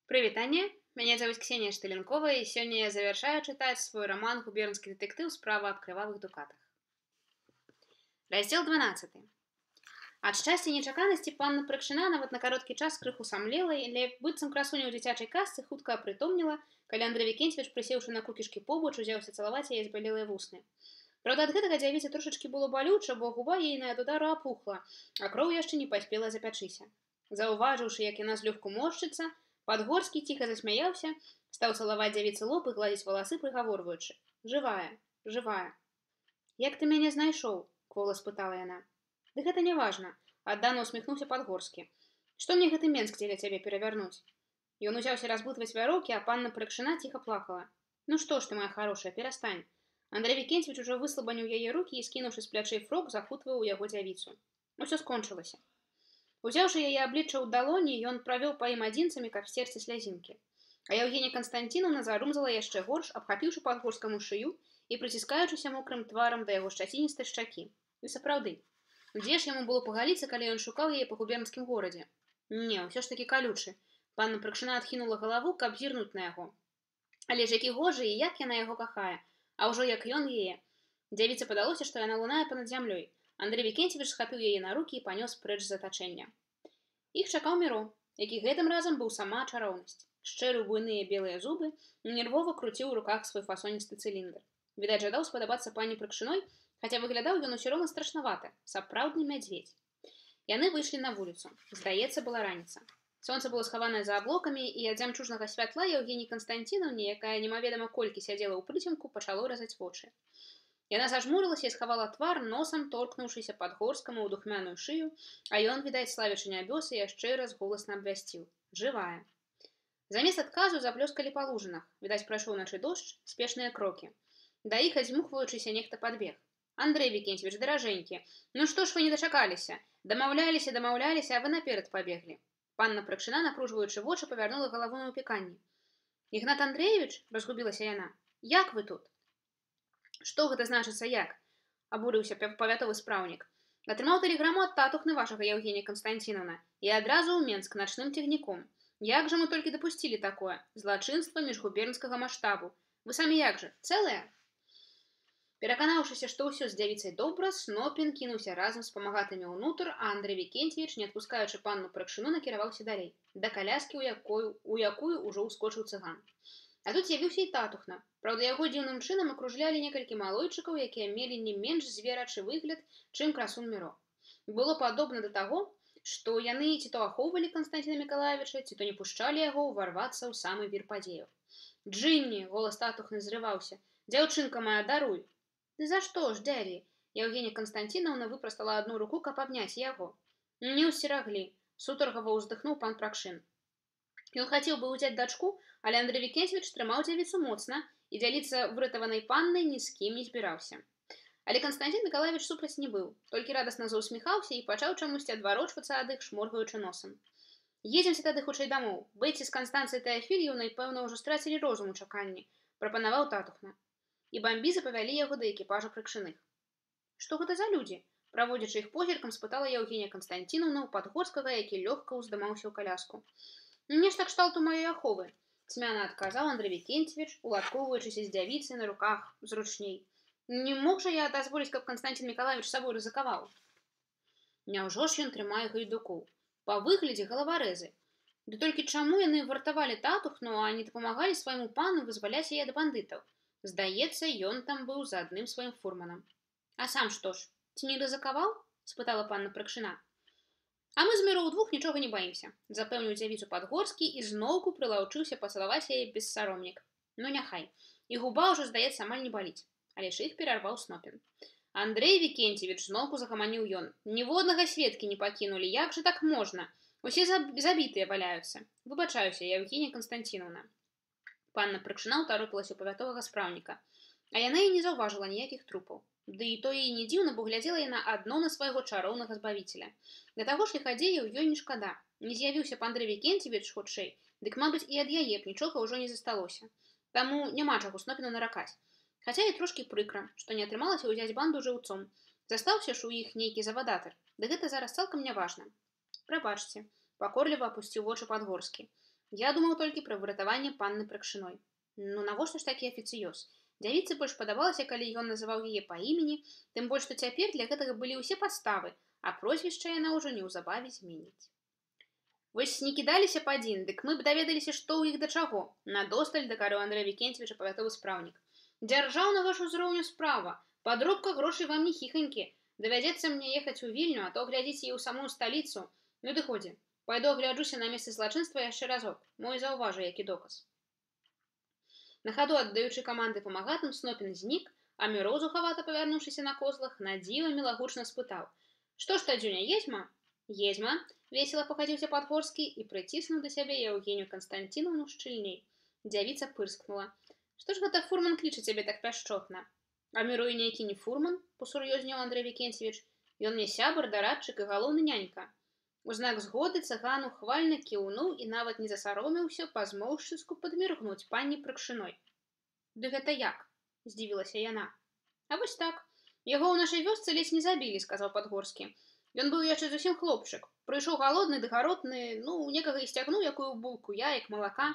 Привитание! Меня зовут Ксения Штыленкова, и сегодня я завершаю читать свой роман «Губернский детектив. Справа об кровавых дукатах». Раздел 12. Ад шчасця і нечаканасці панна Прыкшына нават на кароткі час крыху самлела, але быццам красуня ў дзіцячай казцы хутка апрытомніла, калі Андрэй Вікенцевіч, прысеўшы на кукішкі побач, узяўся цалаваць яе збялелыя вусны. Праўда, ад гэтага дзявіцы трошачкі было балюча, бо губа ейная ад удару апухла, а кроў яшчэ не паспела запячыся. Заўважыўшы, як яна злёгку моршчыцца, Падгорскі ціха засмяяўся, стаў цалаваць дзявіцы лоб і гладзіць валасы, прыгаворваючы: «Жывая, жывая». «Як ты мяне знайшоў?» — квола спытала яна. «Ды гэта не важна», — аддана усміхнуўся Падгорскі. «Што мне гэты Менск дзеля цябе перавярнуць?» Ён узяўся разбытваць вяроўкі, а панна Прыкшына ціха плакала. «Ну што ж ты, моя хорошая, перастань». Андрэй Вікенцевіч ужо выслабаніў яе рукі і, скінуўшы з плячэй фрок, захутваў у яго дзявіцу. Усё скончылася. Узяўшы яе аблічча ў далоні, ён правёў па ім адзінцамі, каб сцерці слязінкі. А Яўгенія Канстанцінаўна зарумзала яшчэ горш, абхапіўшы Падгорскаму шыю і прыціскаючыся мокрым тварам да яго шчаціністай шчакі. І сапраўды, дзе ж яму было пагаліцца, калі ён шукаў яе па губернскім горадзе? Не, ўсё ж такі калючы. Панна Прыкшына адхінула галаву, каб зірнуць на яго. Але ж які гожы і як яна яго кахае, а ўжо як ён яе. Дзявіцы падалося, што яна лунае панад зямлёй. Андрэй Вікенцевіч схапіў яе на рукі і панёс прэч з затачэння. Іх чакаў Міро, які гэтым разам быў сама чароўнасць. Шчэрыў буйныя белыя зубы, нервова круціў у руках свой фасоністы цыліндр. Відаць, жадаў спадабацца пані Прыкшыной, хаця выглядаў ён усё роўна страшнавата, сапраўдны мядзведзь. Яны выйшлі на вуліцу. Здаецца, была раніца. Сонца было схаванае за аблокамі, і ад зямчужнага святла Яўгеніі Канстанцінаўне, якая немаведама колькі сядзела ў прыцемку, пачало разаць вочы. Яна зажмурылася і схавала твар, носам торкнуўшыся Падгорскаму ў духмяную шыю, а ён, відаць, славячы нябёсы, яшчэ раз голасна абвясціў: «Жывая». Замест адказу заблёскалі па лужынах. Відаць, прайшоў начы дождж, спешныя крокі. Да іх, адзьмухваючыся, нехта падбег. «Андрэй Вікенцевіч, даражэнькі, ну што ж вы не дачакаліся? Дамаўляліся, а вы наперад пабеглі». Панна Прыкшына, напружваючы вочы, павярнула галаву на ўпіканні. «Ігнат Андрэевіч?» — разгубілася яна. «Як вы тут?» «Што гэта значыцца як?» — абурыўся павятовы спраўнік. «Атрымаў тэлеграму ад татухны вашага, Яўгенія Канстанцінаўна, і адразу ў Менск начным цягніком. Як жа мы толькі дапусцілі такое? Злачынства міжгубернскага маштабу. Вы самі як жа, цэлыя?» Пераканаўшыся, што ўсё з дзявіцай добра, Снопін кінуўся разам з памагатымі ўнутр, а Андрэй Вікенцевіч, не адпускаючы панну Прыкшыну, накіраваўся далей, да каляскі, у якую ўжо ўскочыў цыган. А тут з'явіўся і татухна. Праўда, яго дзіўным чынам акружлялі некалькі малойчыкаў, якія мелі не менш зверачы выгляд, чым красун Міро. Было падобна да таго, што яны ці то ахоўвалі Канстанціна Мікалаевіча, ці то не пушчалі яго ўварвацца ў самы вір падзеяў. «Джынні!» — голас татухны зрываўся. «Дзяўчынка моя, даруй!» «Ды за што ж, дзядзі?» Яўгенія Канстанцінаўна выпрастала адну руку, каб абняць яго. «Не ўсцераглі!» — сутаргава ўздыхнуў пан Пракшын. Ён хацеў бы ўзяць дачку, але Андрэй Вікенцевіч трымаў дзявіцу моцна і дзяліцца выратаванай паннай ні з кім не збіраўся. Але Канстанцін Мікалаевіч супраць не быў, толькі радасна заўсміхаўся і пачаў чамусьці адварочвацца ад іх, шморгаючы носам. «Едземся тады хутчэй дамоў. Бэйці з Канстанцыяй Тэафільеўнай, пэўна, ужо страцілі розум у чаканні», — прапанаваў татухна. І бамбізы павялі яго да экіпажа Прыкшыных. «Што гэта за людзі?» — праводзячы іх позіркам, спытала Яўгенія Канстанцінаўна ў Падгорскага, які лёгка ўздымаўся ў каляску. «Нешта кшталту маёй аховы», — цьмяна адказаў Андрэй Вікенцевіч, уладкоўваючыся з дзявіцай на руках зручней. «Не мог жа я дазволіць, каб Канстанцін Мікалаевіч сабой рызыкаваў?» Няўжо ж ён трымае гайдукоў? Па выглядзе галаварэзы. Ды толькі чаму яны вартавалі татухну, а не дапамагалі свайму пану вызваляць яе ад бандытаў? Здаецца, ён там быў за адным сваім фурманам. «А сам што ж, ці не рызыкаваў?» — спытала панна Прыкшына. «А мы з Міро ўдвух нічога не баімся», — запэўніў дзявіцу Падгорскі і зноўку прылаўчыўся пацалаваць яе бессаромнік. «Ну няхай, і губа ўжо, здаецца, амаль не баліць». Але ж іх перарваў Снопін. «Андрэй Вікенцевіч», — зноўку загаманіў ён, — «ніводнага сведкі не пакінулі, як жа так можна? Усе забітыя валяюцца. Выбачаюся, Яўгенія Канстанцінаўна». Панна Прыкшына ўтаропілася ў павятовага спраўніка. А яна і не заўважыла ніякіх трупаў. Ды і то і не дзіўна, бо глядзела яна адно на свайго чароўнага збавіцеля. Да таго ж ліхадзеяў ёй не шкада. Не з'явіўся б Андрэй Вікенцевіч хутчэй, дык, мабыць, і ад яе б нічога ўжо не засталося. Таму няма чаго Снопіну наракаць. Хаця і трошкі прыкра, што не атрымалася ўзяць банду жыўцом. Застаўся ж у іх нейкі завадатар. Ды гэта зараз цалкам няважна. «Прабачце», — пакорліва апусціў вочы Падгорскі. Я думаў толькі пра выратаванне панны Пракшыной. Ну навошта ж такі афіцыёз? Дзявіцы больш падабалася, калі ён называў яе па імені, тым больш, што цяпер для гэтага былі ўсе падставы, а прозвішча яна ўжо неўзабаве зменіць. Вось не кідаліся б адзін, дык мы б даведаліся, што ў іх да чаго. Надосталь дакарыў Андрэй Вікенцевіч павятовы спраўнік. Дзяржаўна ваш узроўню справа. Падробка грошай вам не хіханькі. Давядзецца мне ехаць у Вільню, а то глядзіць і ў самую сталіцу. Ну ды ходзі. Пайду агляджуся на месцы злачынства яшчэ разок. Мой заўважу, які доказ. На хаду аддаючы каманды памагатым, Снопін знік, а Міроў, зухавата павярнуўшыся на козлах, на дзіва мілагучна спытаў: «Што ж, Тадзюня, езьма?» «Езьма», — весела пахадзіўся Падгорскі і прыціснуў да сябе Яўгенію Канстанціновну шчыльней. Дзявіца пырскнула: «Што ж гэта фурман кліча цябе так пяшчотна?» «А Мірой нейкі не фурман», — посур'ёзнеў Андрэй Вікенцевіч. «Ён мне сябар, дарадчык і галоўны нянька». У знак згоды цыган ухвальна кіўнуў і нават не засаромеўся па-змоўшчыску падміргнуць панні Пракшыной. «Ды гэта як?» — здзівілася яна. «А вось так. Яго ў нашай вёсцы ледзь не забілі», — сказаў Падгорскі. «Ён быў яшчэ зусім хлопчык. Прыйшоў галодны ды гаротны, ну, некага і сцягнуў якую булку яек, малака.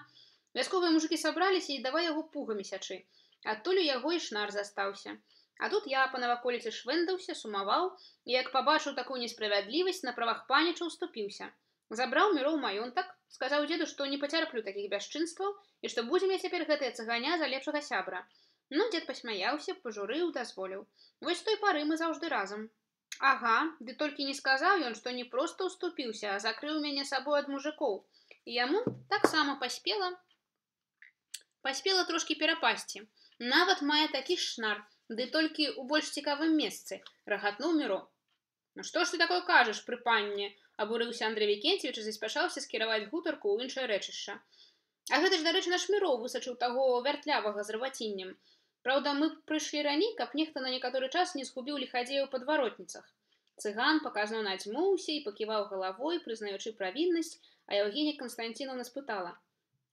Вясковыя мужыкі сабраліся і давай яго пугамі сячы. Адтуль у яго і шнар застаўся. А тут я па наваколіцы швэндаўся, сумаваў, і як пабачыў такую несправядлівасць, на правах паніча ўступіўся. Забраў Міроў маёнтак, сказаў дзеду, што не пацярплю такіх бясчынстваў і што будзе мне цяпер гэтая цыганя за лепшага сябра. Ну, дзед пасмяяўся, пажурыў, дазволіў. Вось з той пары мы заўжды разам». «Ага, ды толькі не сказаў ён, што не проста ўступіўся, а закрыў мяне сабой ад мужикоў. І яму таксама паспела трошкі перапасці. Нават мае такі ж шнар, ды толькі ў больш цікавым месцы», — рагатнуў Міро. «Ну што ж ты такое кажаш, пры панне?» — абурыўся Андрэй Вікенцевіч і заспяшаўся скіраваць гутарку ў іншае рэчышча. «А гэта ж, дарэчы, наш Міроў высачыў таго вяртлявага з рваціннем. Праўда, мы прыйшлі раней, каб нехта на некаторы час не згубіў ліхадзея ў падваротніцах». Цыган паказна надзьмуўся і паківаў галавой, прызнаючы правіннасць, а Яўгенія Канстанціновна спытала: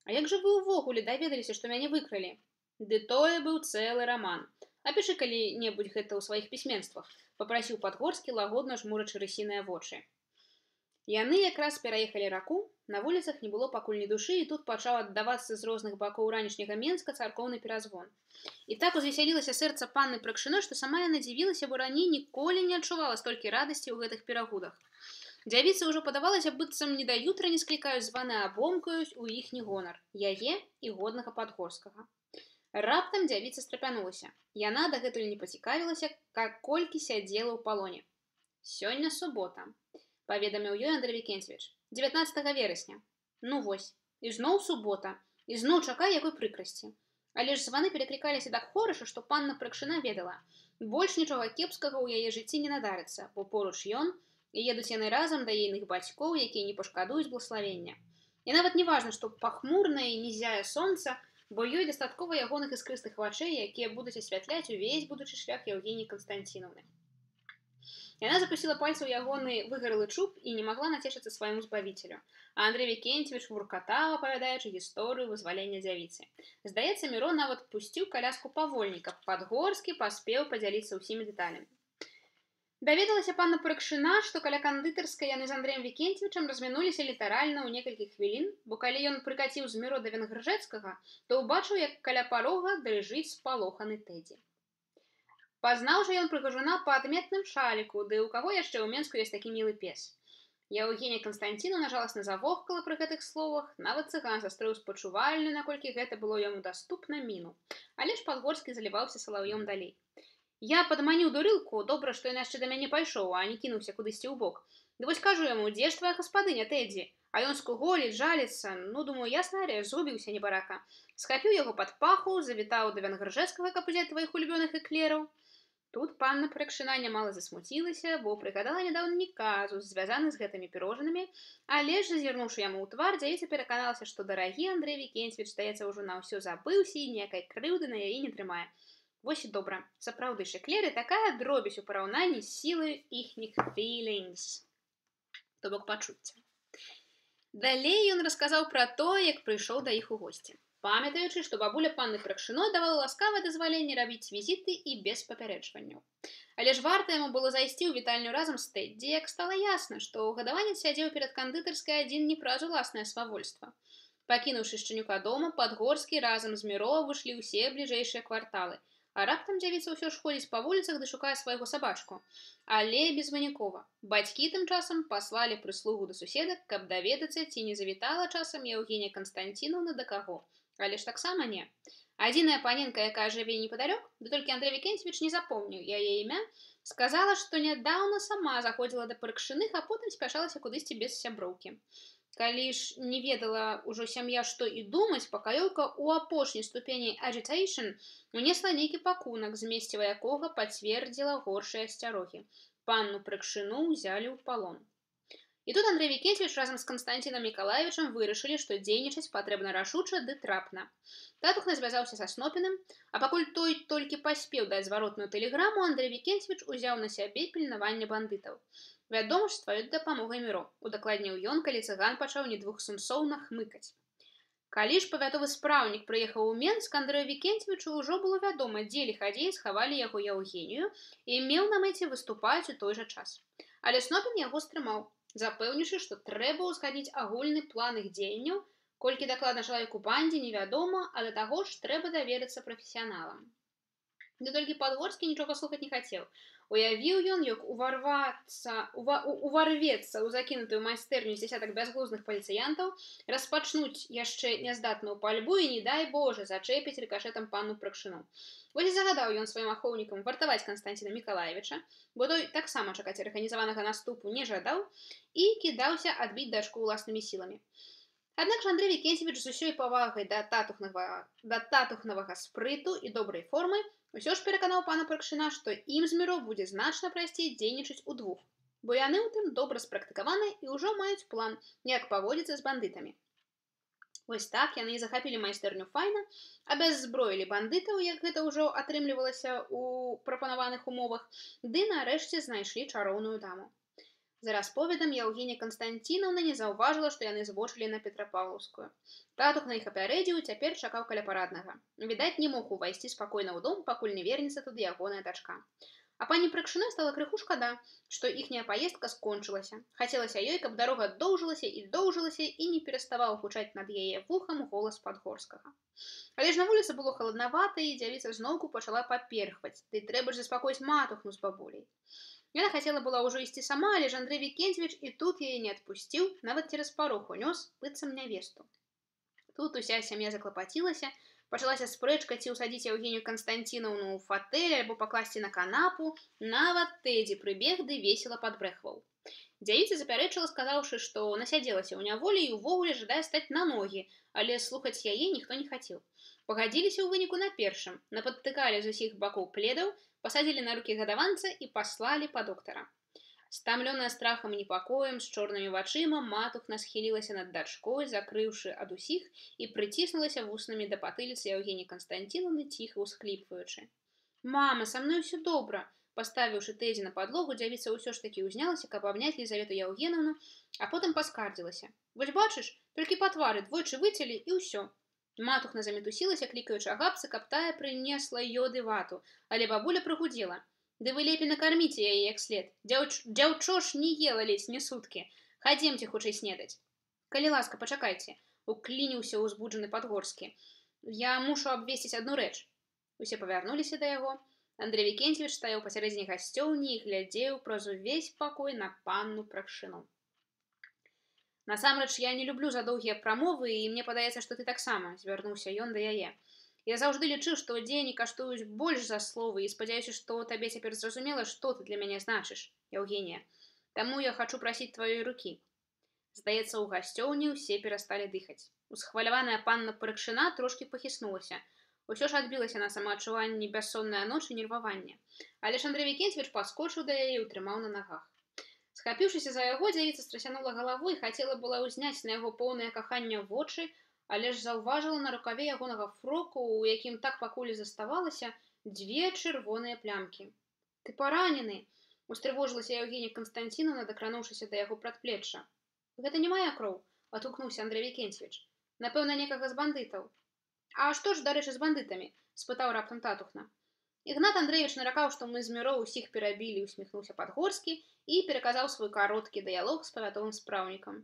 «А як жа вы ўвогуле даведаліся, што мяне выкралі?» «Ды тое быў цэлы раман. Апішы калі-небудзь гэта ў сваіх пісьменствах», — папрасіў Падгорскі, лагодна жмурачы рысіныя вочы. Яны якраз пераехалі раку, на вуліцах не было пакуль ні душы, і тут пачаў аддавацца з розных бакоў ранішняга Менска царкоўны перазвон. І так узвесялілася сэрца панны Пракшыной, што сама яна дзівілася, бо раней ніколі не адчувала столькі радасці ў гэтых перагудах. Дзявіцы ўжо падавалася, быццам не да jutра не склікаюць званы, а бомкаюць у іхні гонар, яе і годнага Падгорскага. Раптам дзявіца страпянулася. Яна дагэтуль не пацікавілася, колькі сядзела ў палоне. «Сёння субота», — паведаміў ёй Андрэй Вікенцевіч. 19 верасня. Ну вось, і зноў субота, і зноў чакай якой прыкрасці. Але ж званы пераклікаліся так хораша, што панна Пракшына ведала. Больш нічога кепскага ў яе жыцці не надарыцца, бо поруч ён, і едуць яны разам да ейных бацькоў, якія не пашкадуюць блаславення. І нават не важна, што пахмурнае і не зяе сонца, бо ёй дастаткова ягоных іскрыстых вачэй, якія будуць асвятляць увесь будучы шлях Яўгеніі Канстанціновны. Яна запусціла пальцы ў ягоны выгарэлы чуб і не магла нацешыцца свайму збавіцелю. А Андрэй Вікенцевіч вуркатаў, апавядаючы гісторыю вызвалення дзявіцы. Здаецца, Міро нават пусціў каляску павольней, каб Падгорскі паспеў падзяліцца ўсімі дэталямі. Даведалася панна Пракшына, што каля кандытарскай яны з Андрэем Вікенцевічам размінуліся літаральна ў некалькі хвілін, бо калі ён прыкаціў з Міро да Венгржэцкага, то ўбачыў, як каля парога дрыжыць спалоханы Тэдзі. Пазнаў жа ён прыгажуна па адметным шаліку, ды ў каго яшчэ ў Менску ёсць такі мілы пес. Яўгенія Канстанціновна жаласна завохкала пры гэтых словах, нават цыган састрэў спачувальную, наколькі гэта было яму даступна, міну. Але ж Падгорскі заліваўся салаўём далей. «Я падманіў дурылку, добра, што ён яшчэ да мяне пайшоў, а не кінуўся кудысьці ў бок. Ды вось кажу яму, дзе ж твая гаспадыня, Тэдзі? А ён скуголіць, жаліцца, ну, думаю, ясна рэч, згубіўся небарака. Схапіў яго пад паху, завітаў да Венгржэцкага, каб узяць тваіх улюбёных эклераў». Тут панна Пракшына нямала засмуцілася, бо прыгадала нядаўні казус, звязаны з гэтымі пірожанымі, але ж, зазірнуўшы яму ў твар, дзявіца пераканалася, што дарагі Андрэй Вікенцевіч, здаецца, ўжо на ўсё забыўся і ніякай крыўды на яе не трымае. Вось і добра. Сапраўды ж эклеры такая дробязь у параўнанні з сілай іхніх feelings, то бок пачуцця. Далей ён расказаў пра тое, як прыйшоў да іх у госці. Памятаючы, што бабуля панны Пракшыной давала ласкавае дазваленне рабіць візіты і без папярэджванняў. Але ж варта яму было зайсці ў вітальню разам з Тэдзі, як стала ясна, што гадаванец сядзеў перад кандытарскай адзін не праз уласнае свавольства. Пакінуўшы шчанюка дома, Падгорскі разам з Міро вышлі ўсе бліжэйшыя кварталы. А раптам дзявіца ўсё ж ходзіць па вуліцах ды шукае свайго сабачку. Але безвынікова. Бацькі тым часам паслалі прыслугу да суседак, каб даведацца, ці не завітала часам Яўгенія Канстанціноўна да каго. Але ж таксама не. Адзіная паненка, якая жыве непадалёк, ды толькі Андрэй Вікенцевіч не запомніў яе імя, сказала, што нядаўна сама заходзіла да Паркшыных, а потым спяшалася кудысьці без сяброўкі. Калі ж не ведала ўжо сям'я, што і думаць, пакаёўка ў апошняй ступені agitation унесла нейкі пакунак, змесціва якога пацвердзіла горшыя асцярогі. Панну Паркшыну ўзялі ў палон. І тут Андрэй Вікенцевіч разам з Канстанцінам Мікалаевічам вырашылі, што дзейнічаць патрэбна рашуча ды трапна. Татухна звязаўся са Снопіным, а пакуль той толькі паспеў даць зваротную тэлеграму, Андрэй Вікенцевіч узяў на сябе пільнаванне бандытаў. Вядома ж, з тваёй дапамогай, Міро, удакладніў ён, калі цыган пачаў недвухсэнсоўна хмыкаць. Калі ж павятовы спраўнік прыехаў у Менск, Андрэю Вікенцевічу ўжо было вядома, дзе ліхадзеі схавалі яго Яўгенію і меў на мэце выступаць у той жа час. Але Снопін яго стрымаў, запэўніўшы, што трэба ўзгадніць агульны план іх дзеянняў, колькі дакладна чалавеку бандзе невядома, а да таго ж трэба даверыцца прафесіяналам. Ды толькі Падгорскі нічога слухаць не хацеў. Уявіў ён, як уварвецца ў закінутую майстэрню з дзясятак бязглузных паліцыянтаў, распачнуць яшчэ няздатную пальбу і, не дай Божа, зачэпіць рыкашэтам панну Паркшыну. Вось і загадаў ён сваім ахоўнікам вартаваць Канстанціна Мікалаевіча, бо той таксама чакаць арганізаванага наступу не жадаў і кідаўся адбіць дачку ўласнымі сіламі. Аднак жа Андрэй Вікенцевіч з усёй павагай да татухнавага спрыту і добрай формы усё ж пераканаў пана Паркшына, што ім з Міро будзе значна прасцей дзейнічаць удвух, бо яны ў тым добра спрактыкаваныя і ўжо маюць план, як паводзіцца з бандытамі. Вось так яны і захапілі майстэрню файна, абяззброілі бандытаў, як гэта ўжо атрымлівалася ў прапанаваных умовах, ды нарэшце знайшлі чароўную даму. За расповедам Яўгенія Канстанціноўна не заўважыла, што яны збочылі на Петрапаўлаўскую. Татухна іх апярэдзіў, цяпер чакаў каля параднага. Відаць, не мог увайсці спакойна ў дом, пакуль не вернецца туды ягоная дачка. А пані Паркшыной стала крыху шкада, што іхняя паездка скончылася. Хацелася ёй, каб дарога доўжылася і не пераставаў гучаць над яе вухам голас Падгорскага. Але ж на вуліцы было халаднавата, і дзявіца зноўку пачала паперхваць, ды трэба ж заспакоіць матухну з бабуляй. Яна хацела была ўжо ісці сама, але ж Андрэй Вікенцевіч і тут яе не адпусціў, нават цераз парог унёс быццам нявесту. Тут уся сям'я заклапацілася, пачалася спрэчка, ці ўсадзіць Яўгенію Канстанціноўну ў фатэль альбо пакласці на канапу, нават Тэдзі прыбег ды весела падбрэхваў. Дзявіца запярэчыла, сказаўшы, што насядзелася ў няволі і ўвогуле жадае стаць на ногі, але слухаць яе ніхто не хацеў. Пагадзіліся ў выніку на першым, нападтыкалі з усіх бакоў пледаў, пасадзілі на рукі гадаванца і паслалі па доктара. Стамлёная страхам і непакоем, з чорнымі вачыма, матухна схілілася над дачкой, закрыўшы ад усіх, і прыціснулася вуснамі да патыліцы Яўгеніі Канстанціноўны, ціха ўсхліпваючы. «Мама, са мной ўсё добра!» Паставіўшы Тэдзі на падлогу, дзявіца ўсё ж такі ўзнялася, каб абняць Лізавету Яўгенаўну, а потым паскардзілася. «Вось бачыш, толькі па твары двойчы выцялі і ўсё!» Матухна замітусілася, клікаючы Агапцы, каб тая прынесла ёды вату, але бабуля прыгудзела. «Ды вы лепей накарміце яе як след. Дзяўчо ж не ела ледзь не суткі. Хадземце хутчэй снедаць». «Калі ласка, пачакайце», уклініўся ўзбуджаны Падгорскі. «Я мушу абвесціць адну рэч». Усе павярнуліся да яго. Андрэй Вікенцевіч стаяў пасярэдзіне гасцёўні і глядзеў праз увесь пакой на панну Паркшыну. «Насамрэч, я не люблю задоўгія прамовы, і мне падаецца, што ты таксама», звярнуўся ён да яе. «Я заўжды лічыў, што дзеянні каштуюць больш за словы, і спадзяюся, што табе цяпер зразумела, што ты для мяне значыш, Яўгенія. Таму я хачу прасіць тваёй рукі». Здаецца, у гасцёўні ўсе перасталі дыхаць. Усхваляваная панна Паркшына трошкі пахіснулася. Усё ж адбілася на самаадчуванні бяссонная ноч і нерваванне. Але ж Андрэй Вікенцевіч паскочыў да яе і ўтрымаў на нагах. Схапіўшыся за яго, дзявіца страсянула галавой, хацела была ўзняць на яго поўнае кахання вочы, але ж заўважыла на рукаве ягонага фроку, у якім так пакуль заставалася, дзве чырвоныя плямкі. «Ты паранены!» — устрывожылася Яўгенія Канстанціноўна, дакрануўшыся да яго прадплечча. «Гэта не мая кроў», — адгукнуўся Андрэй Вікенцевіч. «Напэўна, некага з бандытаў». «А што ж, дарэчы, з бандытамі?» — спытаў раптам татухна. Ігнат Андрэевіч наракаў, што мы з Міро ўсіх перабілі, усміхнуўся Падгорскі і пераказаў свой кароткі дыялог з павятовым спраўнікам.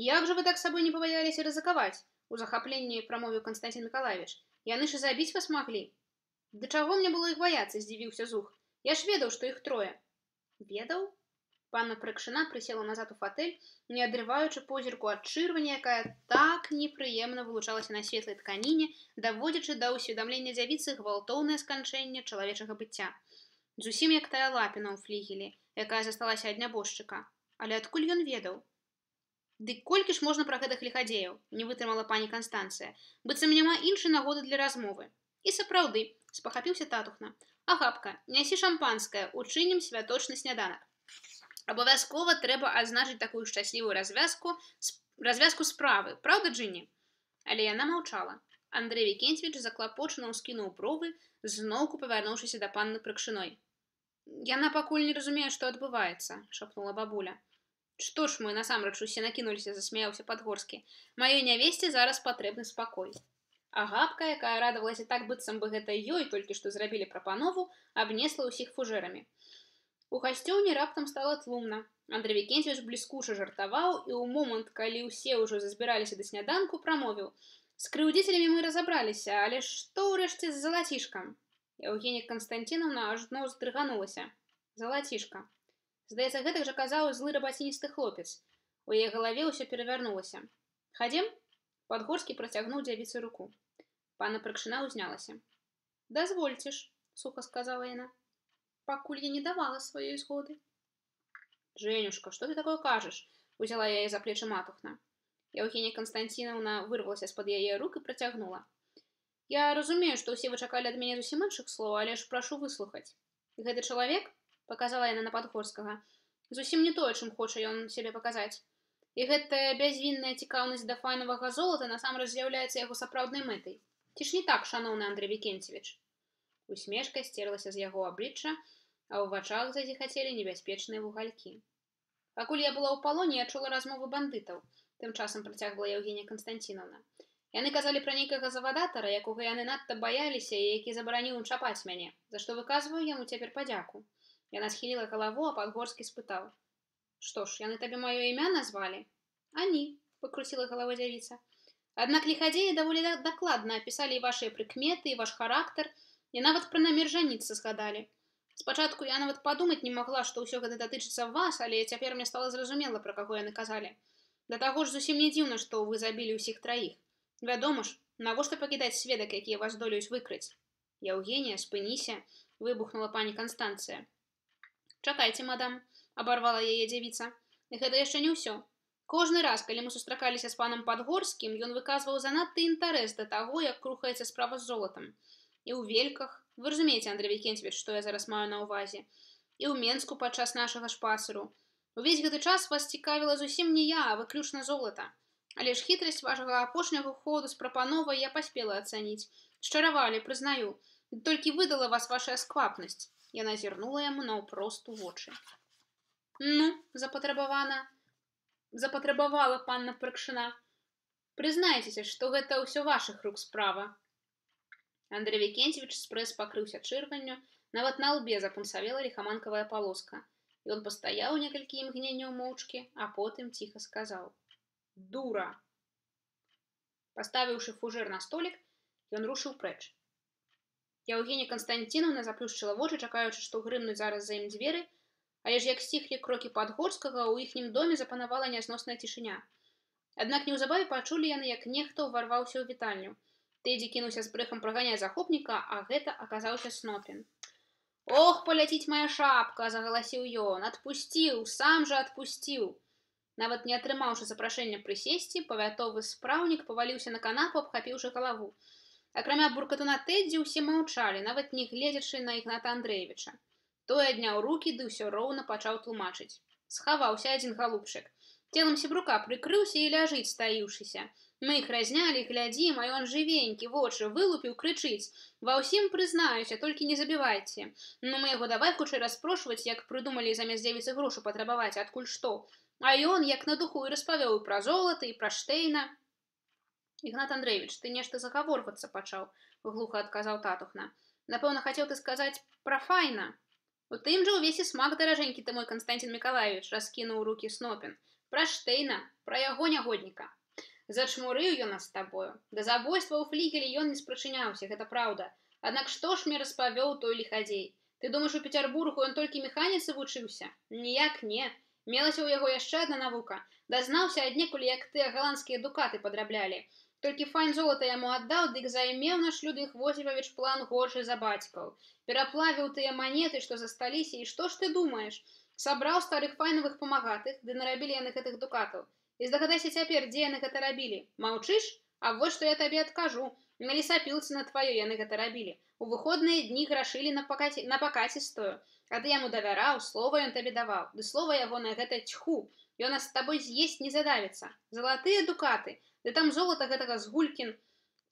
«Як жа вы так сабой не пабаяліся рызыкаваць?» У захапленні прамовіў Канстантин Миколаевич. Яны ж і забіць вас маглі. Да чаго мне было іх баяцца, здзівіўся Зух. Я ж ведаў, што іх трое. Ведаў? Панна Прыкшына прысела назад у фатэль, не адрываючы позірку ад чырвані, якая так непрыемна вылучалася на светлай тканіне, даводзячы да ўсведамлення дзявіцы гвалтоўнае сканчэнне чалавечага быцця. Зусім як тая лапіна ў флігелі, якая засталася ад нябожчыка. Але адкуль ён ведаў? Дык колькі ж можна пра гэтых ліхадзеяў, не вытрымала пані Канстанцыя, быццам няма іншай нагоды для размовы. І сапраўды, спахапіўся татухна. Агапка, нясі шампанскае, учынім святочны сняданак. Абавязкова трэба адзначыць такую шчаслівую развязку справы, праўда, Джинні? Але яна маўчала. Андрэй Вікенцевіч заклапочана ўскінуў бровы, зноўку павярнуўшыся да панны Прыкшыной. Яна пакуль не разумее, што адбываецца, шапнула бабуля. Што ж мы, насамрэч усе накінуліся, засмяяўся Падгорскі. Маёй нявесце зараз патрэбны спакой. Агапка, якая радавалася так, быццам бы гэта ёй толькі што зрабілі прапанову, абнесла ўсіх фужэрамі. У гасцёўні раптам стала тлумна. Андрэй Вікенцевіч бліскуча жартаваў і ў момант, калі ўсе ўжо зазбіраліся да сняданку, прамовіў. З крыўдзіцелямі мы разабраліся, але што ўрэшце з залацішкам? Еўгенія Канстанціновна ажно здрыганулася. Залацішка. Здаецца, гэтак жа казаў злы рабаціністы хлопец. У яе галаве ўсё перавярнулася. Хадзем? Падгорскі працягнуў дзявіцы руку. Панна Прыкшына ўзнялася. Дазвольце ж, суха сказала яна. Пакуль я не давала сваёй згоды. Жэнюшка, што ты такое кажаш? Узяла яе за плечы матухна. Еўгенія Канстанціновна вырвалася з-пад яе рук і працягнула. Я разумею, што ўсе вы чакалі ад мяне зусім іншых слоў, але ж прашу выслухаць. Гэты чалавек, паказала яна на Падгорскага, зусім не тое, чым хоча ён сябе паказаць. І гэтая бязвінная цікаўнасць да файнавага золата насамрэч з'яўляецца яго сапраўднай мэтай. Ці ж не так, шаноўны Андрэй Вікенцевіч? Усмешка сцерлася з яго аблічча, а ў вачах зазіхацелі небяспечныя вугалькі. Пакуль я была ў палоне, я чула размовы бандытаў, тым часам працягвала Еўгенія Канстанціновна. Яны казалі пра нейкага завадатара, якога яны надта баяліся і які забараніў ім чапаць мяне, за што выказваю яму цяпер падзяку. Яна схіліла галаву, а Падгорскі спытаў. Што ж, яны табе маё імя назвалі? Ані, пакруціла галава дзявіца. Аднак ліхадзеі даволі дакладна апісалі і вашыя прыкметы, і ваш характар, і нават пра намер жаніцца згадалі. Спачатку я нават падумаць не магла, што ўсё гэта датычыцца вас, але цяпер мне стала зразумела, пра каго яны казалі. Да таго ж зусім не дзіўна, што вы забілі ўсіх траіх. Вядома ж, навошта пакідаць сведак, якія вас здолеюць выкрыць? Еўгенія, спыніся, выбухнула пані Канстанцыя. Чакайце, мадам, абарвала яе дзявіца. Гэта яшчэ не ўсё. Кожны раз, калі мы сустракаліся з панам Падгорскім, ён выказваў занадты інтарэс да таго, як рухаецца справа з золатам. І ў Вельках, вы разумееце, Андрэй Вікенцевіч, што я зараз маю на ўвазе, і ў Менску падчас нашага шпацыру. Увесь гэты час вас цікавіла зусім не я, а выключна золата. Але ж хітрасць вашага апошняга ходу з прапановай я паспела ацаніць. Шчаравалі, прызнаю. Толькі выдала вас ваша сквапнасць. Яна зірнула яму наўпрост у вочы. Ну, запатрабавала панна Прыкшына. Прызнайцеся, што гэта ўсё вашых рук справа. Андрэй Вікенцевіч спрэс пакрыўся чырванню, нават на лбе запунсавела ліхаманкавая палоска. Ён пастаяў некалькі імгненняў моўчкі, а потым ціха сказаў. Дура! Паставіўшы фужэр на столік, ён рушыў прэч. Еўгенія Канстанціновна заплюшчыла вочы, чакаючы, што грымнуць зараз за ім дзверы, але ж як сціхлі крокі Падгорскага, ў іхнім доме запанавала нязносная цішыня. Аднак неўзабаве пачулі яны, як нехта ўварваўся ў вітальню. Тэдзі кінуўся з брэхам праганяць захопніка, а гэта аказаўся Снопін. Ох, паляціць моя шапка, загаласіў ён, адпусціў, сам жа адпусціў. Нават не атрымаўшы запрашэння прысесці, павятовы спраўнік паваліўся на канапу, абхапіўшы галаву. Акрамя буркатуна Тэдзі ўсе маўчалі, нават не гледзячы на Ігната Андрэевіча. Той адняў рукі, ды ўсё роўна пачаў тлумачыць. Схаваўся адзін галубчык. Целам сябрука прыкрыўся і ляжыць, стаіўшыся. Мы іх разнялі, глядзім, а ён жывенькі, вочы вылупіў, крычыць. Ва ўсім прызнаюся, толькі не забівайце. Ну мы яго давай хутчэй распрошваць, як прыдумалі замест дзевіцы грошы патрабаваць, адкуль што. А ён, як на духу, і распавёў і пра золата, і пра Штейна. Ігнат Андрэевіч, ты нешта загаворвацца пачаў, глуха адказаў татухна. Напэўна, хацеў ты сказаць пра файна. У тым жа ўвесь і смак, даражэнькі ты мой Канстантин Миколаевич, раскінуў рукі Снопін. Пра Штейна, пра яго нягодніка. Зачмурыў ён нас з табою. Да забойства ў флігелі ён не спрачыняўся, гэта праўда. Аднак што ж мне распавёў той ліхадзей? Ты думаеш, у Петербургу ён толькі механіцы вучыўся? Ніяк не. Мелася ў яго яшчэ адна навука. Дазнаўся аднекуль, як тыя галандскія дукаты падраблялі. Толькі файн золата яму аддаў, дык займеў наш Людвіг Возьмовіч план горшы за бацькаў. Пераплавіў тыя манеты, што засталіся, і што ж ты думаеш? Сабраў старых файновых памагатых, ды нарабілі яны гэтых дукатаў. І здагадайся цяпер, дзе яны гэта рабілі? Маўчыш? А вось што я табе адкажу. На лесапілцы на тваё яны гэта рабілі. У выходныя дні грашылі на пакацістую. А ты яму давяраў, слова ён табе даваў. Ды слова яго на гэта тьху. Ён нас з табой з'есць не задавіцца. Залатыя дукаты. Ды там золата гэтага згулькін.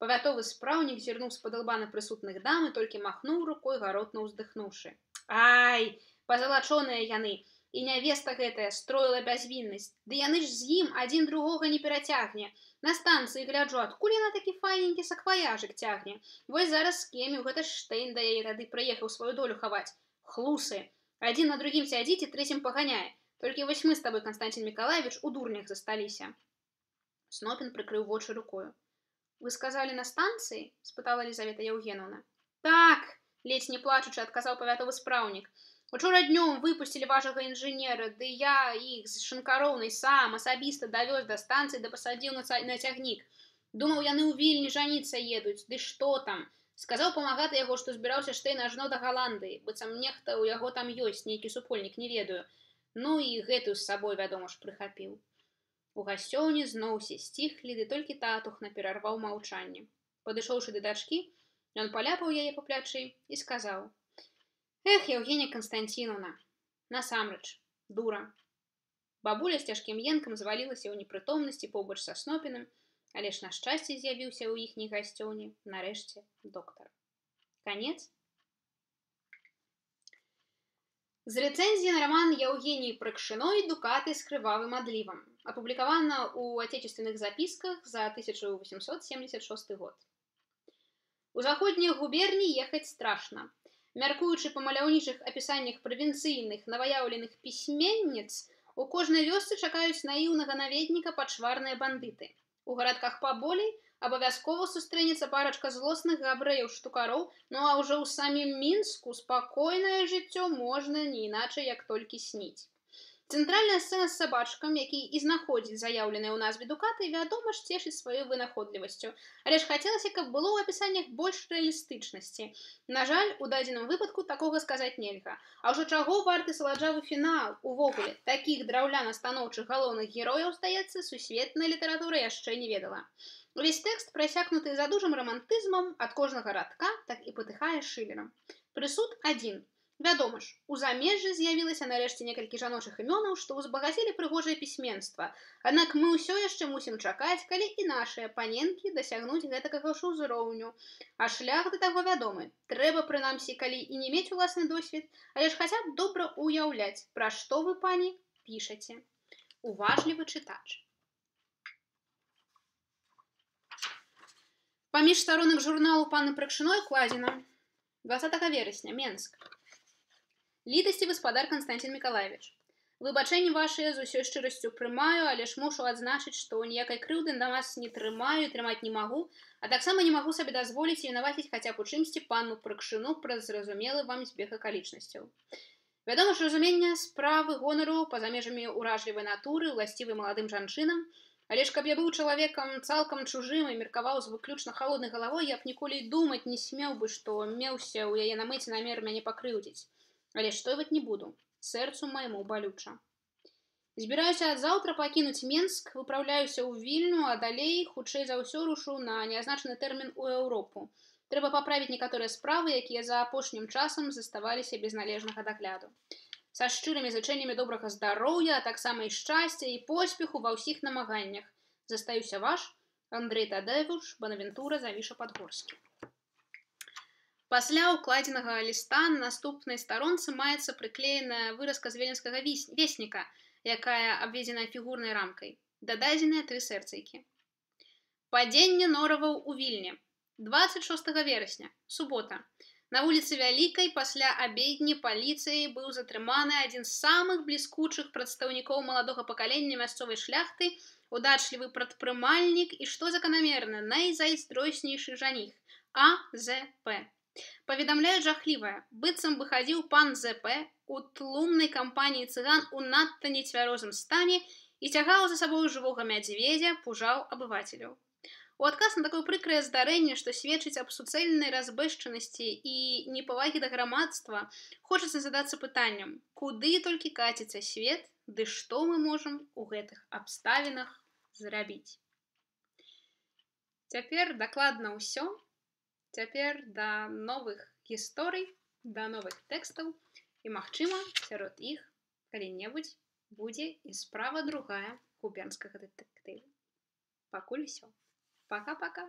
Павятовы спраўнік зірнуў з-пад лба на прысутных дам і толькі махнуў рукой, гаротна ўздыхнуўшы. Ай, пазалачоныя яны. І нявеста гэтая строіла бязвіннасць. Ды яны ж з ім адзін другога не перацягне. На станцыі гляджу, адкуль яна такі файненькі сакваяжык цягне. Вось зараз скеміў, гэта Штейн да яе тады прыехаў сваю долю хаваць. Хлусы. Адзін на другім сядзіць і трэцім паганяе. Толькі вось мы з табой, Константин Миколаевич, у дурнях засталіся. Снопін прыкрыў вочы рукою. Вы сказалі на станцыі? Спытала Елизавета Евгеновна. Так, ледзь не плачучы, адказаў павятовы спраўнік. Учора днём выпусцілі вашага інжынера, ды я іх з Шанкароўнай сам асабіста давёз да станцыі, да пасадзіў на цягнік. Думаў, яны ў Вільні жаніцца едуць. Ды што там? Сказаў памагаты яго, што збіраўся Штейн ажно да Галандыі, быццам нехта ў яго там ёсць, нейкі супольнік, не ведаю. Ну і гэтую з сабой, вядома ж, прыхапіў. У гасцёўні зноў усе сціхлі, ды толькі татухна перарваў маўчанне. Падышоўшы да дачкі, ён паляпаў яе па плячы і сказаў: Эх, Евгения Константиновна, насамрэч, дура. Бабуля з цяжкім енкам звалілася ў непрытомнасці побач са Снопіным, але ж на шчасце з'явіўся ў іхняй гасцёўні, нарэшце, доктар. Канец. З рэцэнзіі на роман Евгении Прыкшиной «Дукаты с крывавым одливом», опубликовано у отечественных записках за 1876 год. У заходніх губерній ехаць страшна. Мяркуючы па маляўнічых апісаннях правінцыйных новаяўленых пісьменніц, у кожнай вёсцы чакаюць наіўнага наведніка пачварныя бандыты. У гарадках паболей абавязкова сустрэнецца парачка злосных габрэяў-штукароў, ну а ўжо ў самім Мінску спакойнае жыццё можна не іначай, як толькі сніць. Цэнтральная сцэна з сабачкам, які і знаходзіць заяўленыя ў назве дукаты, вядома ж, цешыць сваёй вынаходлівасцю. Але ж хацелася, каб было ў апісаннях больш рэалістычнасці. На жаль, у дадзеным выпадку такога сказаць нельга. А ўжо чаго варты саладжавы фінал? Увогуле, такіх драўляна-станоўчых галоўных герояў, здаецца, сусветная літаратура яшчэ не ведала. Увесь тэкст прасякнуты задужым рамантызмам ад кожнага радка, так і патыхае Шылерам. Прысуд адзін. Вядома ж, у замежжы з'явілася нарэшце некалькі жаночых імёнаў, што ўзбагацілі прыгожае пісьменства. Аднак мы ўсё яшчэ мусім чакаць, калі і нашыя паненкі дасягнуць гэтакага ж узроўню. А шлях да таго вядомы. Трэба, прынамсі, калі і не мець уласны досвед, але ж хаця б добра ўяўляць, пра што вы, пані, пішаце. Уважлівы чытач. Паміж старонак журналу паны Прыкшиной кладзена 20 верасня, Менск. Літасцівы спадар Константин Миколаевич, выбачэнні вашыя з усёй шчырасцю прымаю, але ж мушу адзначыць, што ніякай крыўды на вас не трымаю і трымаць не магу, а таксама не магу сабе дазволіць вінаваціць хаця б у чымсьці панну Прыкшину праз зразумелы вам збег акалічнасцяў. Вядома ж, разумення справы гонару па-за межамі уражлівай натуры, уласцівай маладым жанчынам, але ж каб я быў чалавекам цалкам чужым і меркаваў з выключна халоднай галавой, я б ніколі думаць не смеў бы, што меўся ў яе на мэце намер мяне пакрыўдзіць. Але штойваць не буду, сэрцу майму балюча. Збіраюся ад заўтра пакінуць Менск, выпраўляюся ў Вільню, а далей, хутчэй за ўсё, рушу на неазначаны тэрмін у Еўропу. Трэба паправіць некаторыя справы, якія за апошнім часам заставаліся без належнага дагляду. Са шчырымі зычэннямі добрага здароўя, а таксама і шчасця і поспеху ва ўсіх намаганнях. Застаюся ваш, Андрэй Тадеўіч Банавентура Завіша-Падгорскі. Пасля ўкладзенага ліста на наступнай старонцы маецца прыклееная выразка з віленскага весніка, якая абведзена фігурнай рамкай. Дададзеныя 3 сэрцайкі. Падзенне нораваў у Вільні. 26 верасня, субота. На вуліцы Вялікай пасля абедні паліцыяй быў затрыманы адзін з самых бліскучых прадстаўнікоў маладога пакалення мясцовай шляхты, удачлівы прадпрымальнік і, што заканамерна, найзайздроснейшы жаніх – А.З.П. Паведамляюць жахлівае, быццам бы хадзіў пан З.П. у тлумнай кампаніі цыган у надта нецвярозым стане і цягаў за сабою жывога мядзведзя, пужаў абывацеляў. У адказ на такое прыкрае здарэнне, што сведчыць аб суцэльнай разбэшчанасці і непавагі да грамадства, хочацца задацца пытаннем, куды толькі каціцца свет, ды што мы можам у гэтых абставінах зрабіць. Цяпер дакладна ўсё. Цяпер да новых гісторый, да новых тэкстаў і, магчыма, сярод іх калі-небудзь будзе і справа другая губернскага дэтэктыву. Пакуль усё. Пока-пока.